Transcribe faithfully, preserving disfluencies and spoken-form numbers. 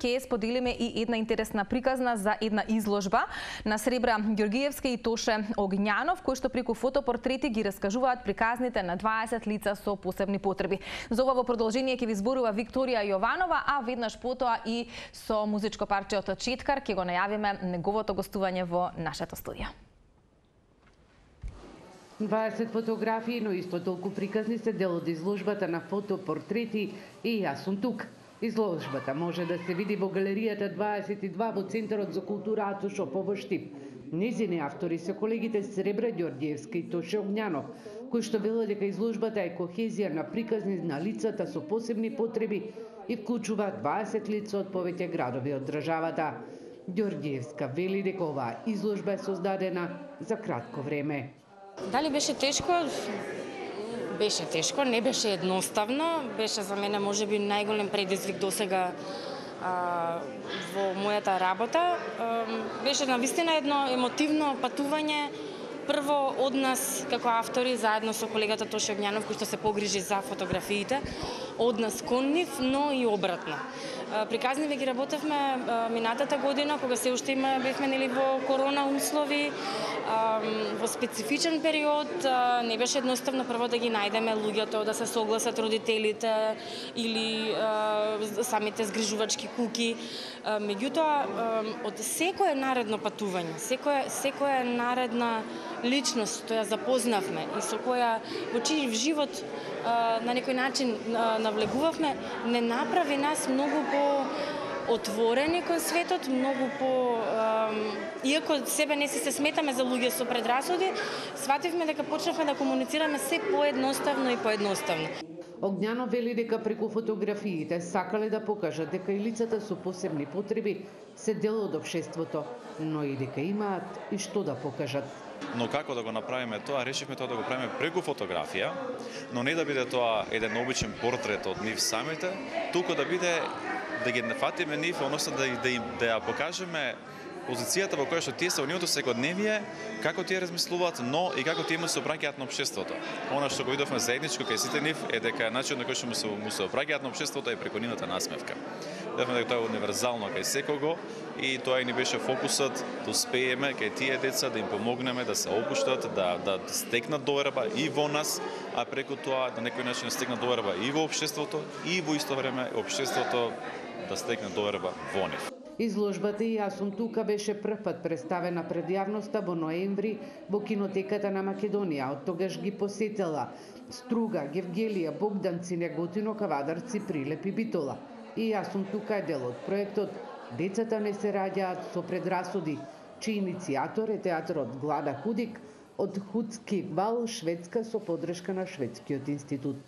ќе споделиме и една интересна приказна за една изложба на Сребра Ѓоргиевска и Тоше Огњанов, кои што преку фотопортрети ги раскажуваат приказните на дваесет лица со посебни потреби. За ова во продолжение ќе ви зборува Викторија Јованова, а веднаш потоа и со музичко парче од Четкар ќе го најавиме неговото гостување во нашето студио. дваесет фотографии, но исто толку приказни се дел од изложбата на фотопортрети и јас сум тук. Изложбата може да се види во галеријата дваесет и два во Центарот за култура Ато Шопов во Штип. Незини автори се колегите Сребра Ѓоргиевска и Тоше Огњанов, кои што велат дека изложбата е кохезија на приказни на лицата со посебни потреби и вклучува дваесет лица од повеќе градови од државата. Ѓоргиевска вели дека оваа изложба е создадена за кратко време. Дали беше тешко? Беше тешко, не беше едноставно. Беше за мене можеби најголем предизвик досега а, во мојата работа. А, беше навистина едно емотивно патување. Прво од нас како автори, заедно со колегата Тоше Огњанов, кој што се погрижи за фотографиите, од нас кон нив, но и обратно. Приказниве ги работевме минатата година, кога се уште има бевме нели во корона услови, во специфичен период, не беше едноставно прво да ги најдеме луѓето, да се согласат родителите или самите згрижувачки куки. Меѓутоа, од секое наредно патување, секоја секоја наредна личност што ја запознавме и со која во чиј живот на некој начин навлегувавме, не направи нас многу по отворени кон светот, многу по иако себе не си се сметаме за луѓе со предрасуди, свативме дека почнавме да комуницираме се поедноставно и поедноставно. Огњанов вели дека преку фотографиите сакале да покажат дека и лицата со посебни потреби се дел од општеството, но и дека имаат и што да покажат. Но како да го направиме тоа, решивме тоа да го правиме преку фотографија, но не да биде тоа еден обичен портрет од нив самите, туку да биде да ги нафатиме нив, односно да да да ја покажеме позицијата во која што тие се во нивото секојдневие, како тие размислуваат, но и како тие му се обраќаат на општеството. Она што го видовме заедничко кај сите нив е дека начинот на кој што му се му се обраќаат на општеството е преку нивната насмевка. Видовме дека тоа е универзално кај секого и тоа и ни беше фокусот да успееме кај тие деца да им помогнеме да се опуштат, да да стекнат доверба и во нас, а преку тоа на некој начин да стекнат доверба и во општеството и во исто време општеството да стекне доверба во нив. Изложбата и јас сум тука беше првпат представена пред јавноста во ноември во кинотеката на Македонија. Од тогаш ги посетила Струга, Гевгелија, Богданци, Неготино, Кавадарци, Прилеп и Битола. И јас сум тука е дел од проектот Децата не се раѓаат со предрасуди, чиј иницијатор е театарот Глада Худик од Худски вал, Шведска, со подршка на Шведскиот институт.